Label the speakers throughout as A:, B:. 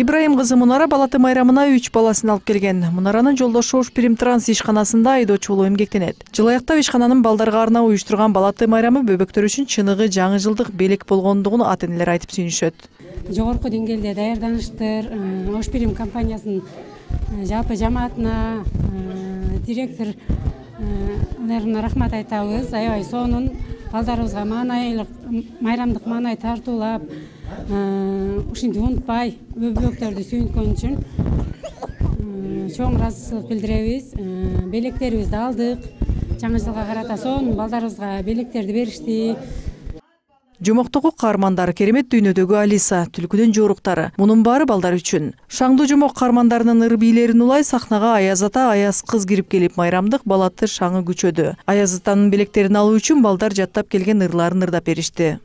A: Ибраим кызы Мунара Балаты майрамына 3 баласын алып келген. Мунаранын жолдошу Ошпирим транс ишканасында айдоочу болуп эмгектенет. Жыл аяктап ишкананын балдарга арнап уюштурган Балаты майрамы бөбөктөр үчүн чыныгы жаңы жылдык белек болгондугун ата-энелер айтып сүйүнүшөт.
B: Жогорку деңгээлде даярданыштыр. Ошпирим компаниясынын жалпы жамаатына, директорлоруна рахмат айтабыз. Аябай сонун балдарыбызга майрамдык маанай тартуулап, ушинтип унутпай бөбөктөрдү сүйүнткөн үчүн чоң ыраазычылык билдиребиз. Белектерибизди алдык. Жаңы жылга карата сонун балдарыбызга белектерди беришти.
A: Жомоктогу каармандар, керемет дүйнөдөгү Алиса, түлкүдүн жоруктары. Мунун баары балдар үчүн. Шаңдуу жомок каармандарынын ыр бийлерин улай сахнага Аяз ата, Аяз кыз кирип келип майрамдык Балаты шаңы күчөдү. Аяз атанын белектерин алуу үчүн балдар жаттап келген ырларын ырдап беришти.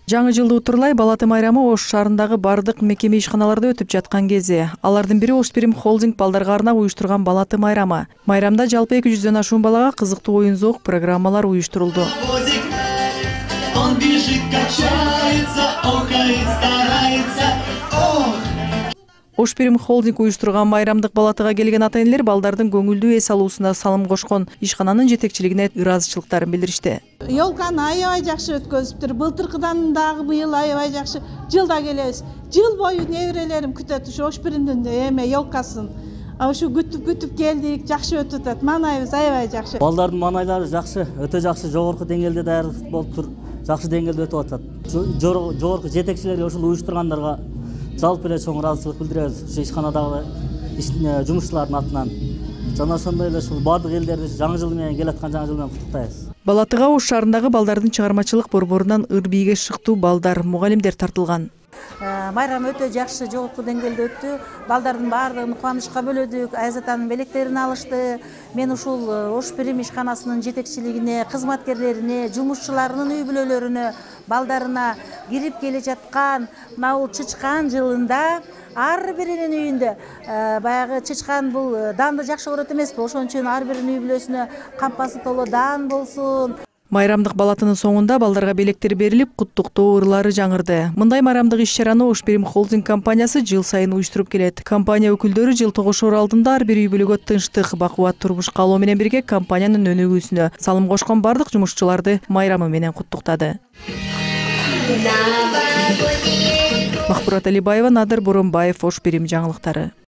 A: Жаңы жылды утурлай Балаты майрамы Ош шаарындагы бардык мекеме ишканаларда өтүп жаткан кези. Алардын бири Ошпирим холдинг балдарга арнап уюштурган Балаты майрамы. Майрамда жалпы 200дөн ашуун балага кызыктуу оюн-зоок программалар уюштурулду. Ошпирим холдинг уюштурган майрамдык Балатыга келген ата-энелер балдардын көңүлдүү эс алуусуна салым кошкон ишкананын жетекчилигине ыраазычылыктарын билдиришти.
C: Ёлканы аябай жакшы өткөзүптүр. Былтыркыдан дагы быйыл аябай жакшы. Жылда келебиз. Жыл бою неберелерим күтөт ушу Ошпиримдин ёлкасын. Ушу күтүп келдик, жакшы өтүп атат. Маанайыбыз аябай жакшы.
D: Балдардын маанайлары жакшы, өтө жакшы, жогорку деңгээлде даярдык болуп тур. Жакшы деңгээлде өтүп атат. Жогорку жетекчилерге ушул уюштургандарга жалпы эле чоң ыраазычылык билдиребиз. Ушу ишканадагы жумушчулардын атынан. Жана ошондой эле ушул бардык элдерди жаңы жыл менен келаткан жаңы жыл менен куттуктайбыз.
A: Балатыга Ош шаарындагы балдардын чыгармачылык борборунан ыр бийге шыктуу балдар, мугалимдер тартылган.
E: Майрам өтө жакшы, жогорку деңгээлде өттү. Балдардын баардыгын кубанычка бөлөдүк. Аяз атанын белектерин алышты. Мен ушул Ошпирим ишканасынын жетекчилигине, кызматкерлерине, жумушчуларынын үй бүлөлөрүнө, балдарына кирип келе жаткан мына чычкан жылында ар биринин үйүндө баягы чычкан бул данды жакшы көрөт эмеспи? Ошон үчүн ар биринин үй бүлөсүнө кампасы толо дан болсун.
A: Майрамдык Балатынын соңунда балдарга белектер берилип, куттуктоо ырлары жаңырды. Мындай майрамдык иш-чараны Ошпирим холдинг компаниясы жыл сайын уюштуруп келет. Компания өкүлдөрү жыл тогушоор алдында ар бир үй бүлөгө тынчтык, бакубат турмуш каалоо менен бирге компаниянын өнүгүүсүнө салым кошкон бардык жумушчуларды майрамы менен куттуктады. Махбурат Алибаева, Надыр Боронбаев, Ошпирим жаңылыктары.